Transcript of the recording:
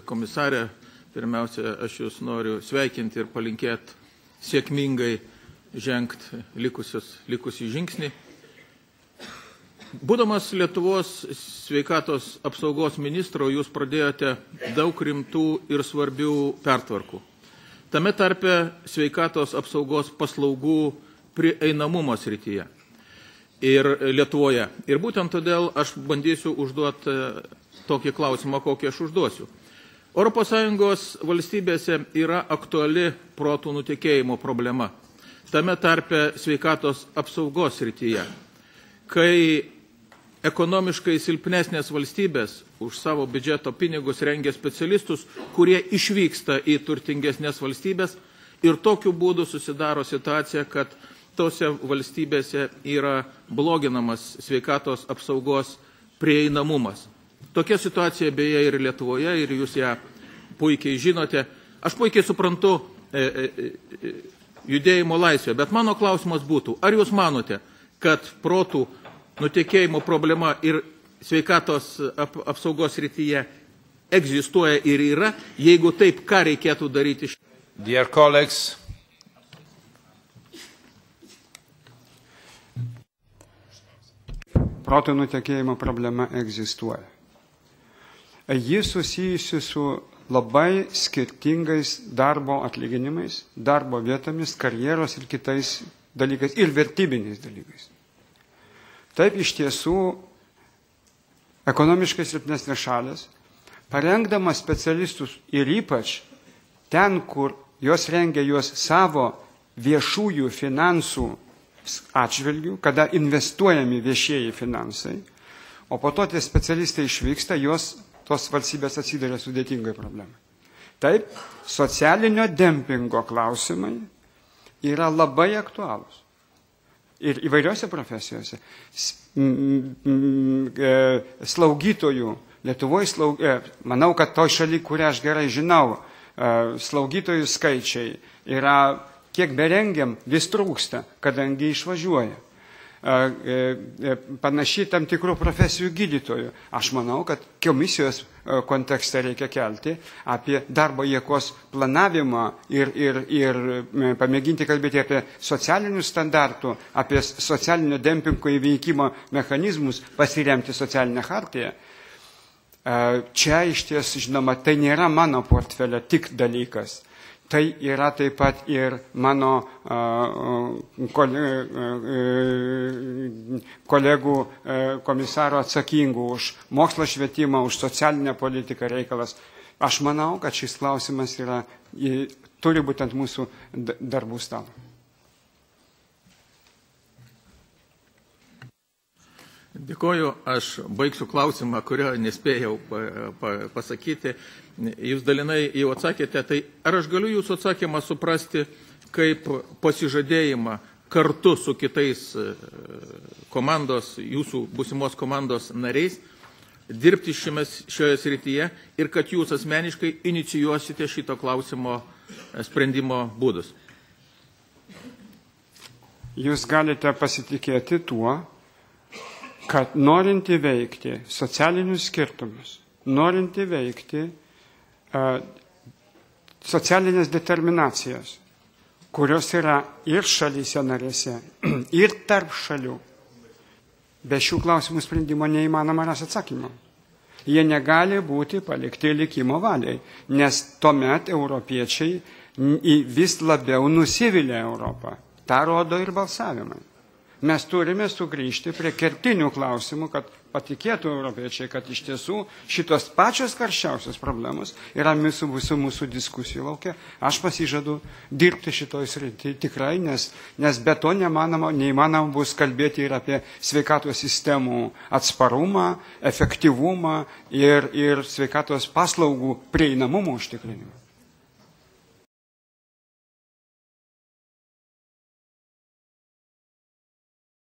Komisarė, pirmiausia, aš Jūs noriu sveikinti ir palinkėti sėkmingai žengti likusį žingsnį. Būdamas Lietuvos sveikatos apsaugos ministro, Jūs pradėjote daug rimtų ir svarbių pertvarkų. Tame tarpe sveikatos apsaugos paslaugų prieinamumo srityje ir Lietuvoje. Ir būtent todėl aš bandysiu užduoti tokį klausimą, kokį aš užduosiu. ES valstybėse yra aktuali protų nutekėjimo problema, tame tarpe sveikatos apsaugos srityje, kai ekonomiškai silpnesnės valstybės už savo biudžeto pinigus rengia specialistus, kurie išvyksta į turtingesnės valstybės ir tokiu būdu susidaro situacija, kad tose valstybėse yra bloginamas sveikatos apsaugos prieinamumas. Tokia situacija beje ir Lietuvoje, ir Jūs ją puikiai žinote. Aš puikiai suprantu judėjimo laisvę, bet mano klausimas būtų, ar Jūs manote, kad protų nutekėjimo problema ir sveikatos apsaugos srityje egzistuoja ir yra, jeigu taip, ką reikėtų daryti? Dear colleagues, protų nutekėjimo problema egzistuoja. Ji susijusi su labai skirtingais darbo atlyginimais, darbo vietomis, karjeros ir kitais dalykais, ir vertybiniais dalykais. Taip iš tiesų ekonomiškai silpnesnės šalės, parengdamas specialistus ir ypač ten, kur jos rengia juos savo viešųjų finansų atžvilgių, kada investuojami viešieji finansai, o po to tie specialistai išvyksta, tos valstybės atsiduria sudėtingai problemai. Taip, socialinio dempingo klausimai yra labai aktualūs. Ir įvairiose profesijose. Slaugytojų, Lietuvoje, manau, kad toj šaly, kurią aš gerai žinau, slaugytojų skaičiai yra, kiek berengiam, vis trūksta, kadangi išvažiuoja. Panašiai tam tikrų profesijų gydytojų. Aš manau, kad komisijos kontekste reikia kelti apie darbo jėgos planavimą ir pamėginti kalbėti apie socialinių standartų, apie socialinio dempingo įveikimo mechanizmus, pasiremti socialinę hartiją. Čia iš ties, žinoma, tai nėra mano portfelio tik dalykas. Tai yra taip pat ir mano kolegų komisaro atsakingų už mokslo švietimą, už socialinę politiką reikalas. Aš manau, kad šis klausimas turi būti ant mūsų darbų stalo. Dėkoju, aš baigsiu klausimą, kurio nespėjau pasakyti. Jūs dalinai jau atsakėte, tai ar aš galiu Jūsų atsakymą suprasti kaip pasižadėjimą kartu su kitais komandos, Jūsų būsimos komandos nariais, dirbti šioje srityje ir kad Jūs asmeniškai inicijuosite šito klausimo sprendimo būdus? Jūs galite pasitikėti tuo, kad norint įveikti socialinius skirtumus, norint įveikti socialinės determinacijas, kurios yra ir šalyse narėse, ir tarp šalių, be šių klausimų sprendimo neįmanoma ras atsakymą. Jie negali būti palikti likimo valiai, nes tuomet europiečiai vis labiau nusivylė Europą. Ta rodo ir balsavimai. Mes turime sugrįžti prie kertinių klausimų, kad patikėtų europiečiai, kad iš tiesų šitos pačios karščiausios problemos yra visų mūsų diskusijų laukia. Aš pasižadu dirbti šitoj srity tikrai, nes be to neįmanoma bus kalbėti ir apie sveikatos sistemų atsparumą, efektyvumą ir sveikatos paslaugų prieinamumo užtikrinimą.